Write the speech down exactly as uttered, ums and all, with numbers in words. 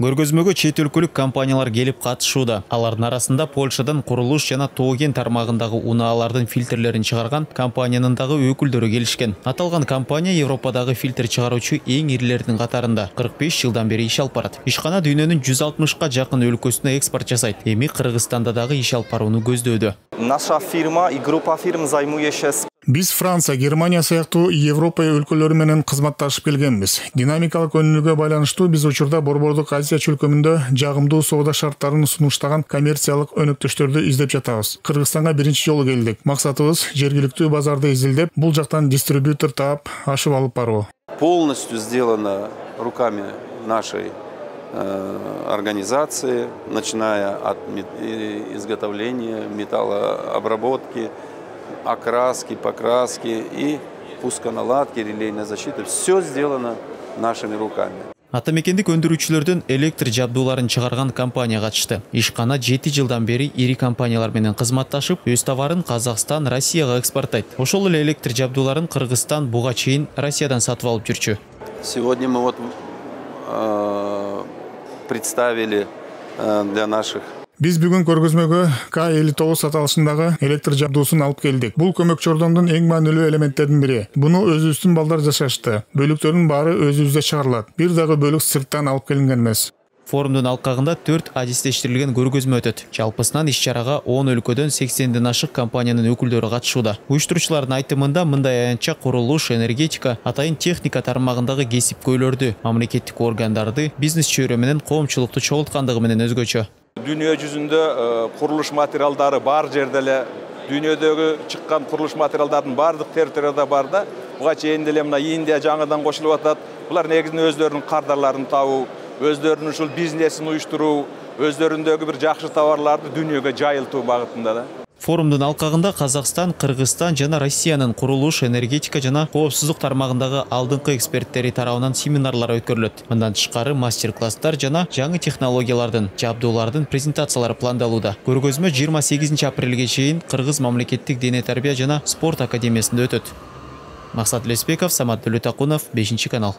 Көргөзмөгө чет өлкөлүк компаниялар келип катышууда. Алардын арасында Польшадан курулуш жана тоо кен тармагындагы унаалардын фильтрлерин чыгарган компаниянын дагы өкүлдөрү келишкен. Аталган компания Европадагы фильтр чыгаруучу эң ирилердин катарында кырк беш жылдан бери иш алып барат. Ишкана дүйнөнүн жүз алтымышка жакын өлкөсүнө экспорт жасайт. Эми Кыргызстанда дагы иш алып барууну көздөөдө. Наша фирма и группа фирм займує się. Биз Франция, Германия сыяктуу Европа өлкөлөрү менен кызматташып келгенбиз. Динамикалык өнүгүүгө байланыштуу биз учурда Борбордук Азия чөлкөмүндө жагымдуу соода шарттарын сунуштаган коммерциялык өнөктөштөрдү издеп жатабыз. Кыргызстанга биринчи жолу келдик. Максатыбыз жергиликтүү базарды изилдеп, бул жактан дистрибьютор таап, ашып алып баруу. Полностью сделано руками нашей э, организации, начиная от изготовления, металлообработки, окраски, покраски и пусконаладки, релейной защиты. Все сделано нашими руками. Атамекендик өндүрүүчүлөрдүн электр жабдууларын чыгарган компания катышты. Ишкана жети жылдан бери ири компаниялар менен кызматташып, өз товарын Казакстан, Россияга экспорттайт. Ошол эле электр жабдууларын Кыргызстан буга чейин Россиядан сатып алып жүрчү. Сегодня мы вот э, представили э, для наших. Биз бүгүн көргөзмөгө К элүү тогуз аталышындагы электр жабдуусун алып келдик. Бул көмөк жардамдын эң маанилүү элементтердин бири. Буну өзүбүздүн балдар жасашты. Бөлүктөрдүн баары өзүбүздө чыгарылат. Бир дагы бөлүк сырттан алып келинген эмес. Форумдун алкагында төрт адистештирилген көргөзмө өтөт. Жалпысынан иш-чарага он өлкөдөн сексенден ашык компаниянын өкүлдөрү катышууда. Уюштуруучулардын айтымында мындай аянтча курулуш, энергетика, атайын техника тармагындагы кесипкөйлөрдү, мамлекеттик органдарды, бизнес чөйрө менен коомчулукту чогулткандыгы менен өзгөчө. Дүйнө жүзүндө курулуш материалдары бар жерде эле, дүйнөдөгү чыккан курулуш материалдардын бардык территорияда бар да. Буга чейин деле мына Индия жаңыдан кошулуп атат. Булар негизинен өздөрүнүн кардарларын табуу, өздөрүнүн ушул бизнесин уюштуруу, өздөрүндөгү бир жакшы товарларды дүйнөгө жайылтуу багытында да. Форумдун алкагында Казакстан, Кыргызстан жана Россиянын курулуш, энергетика жана коопсуздук тармагындагы алдыңкы эксперттери тарабынан семинарлар өткөрүлөт. Мындан тышкары мастер-класстар жана жаңы технологиялардын, жабдуулардын презентациялары пландалууда. Көргөзмө жыйырма сегизинчи апрелге чейин Кыргыз мамлекеттик дене тарбия жана спорт академиясында өтөт. Максат Леспеков, Самат Төлөтакунов, бешинчи канал.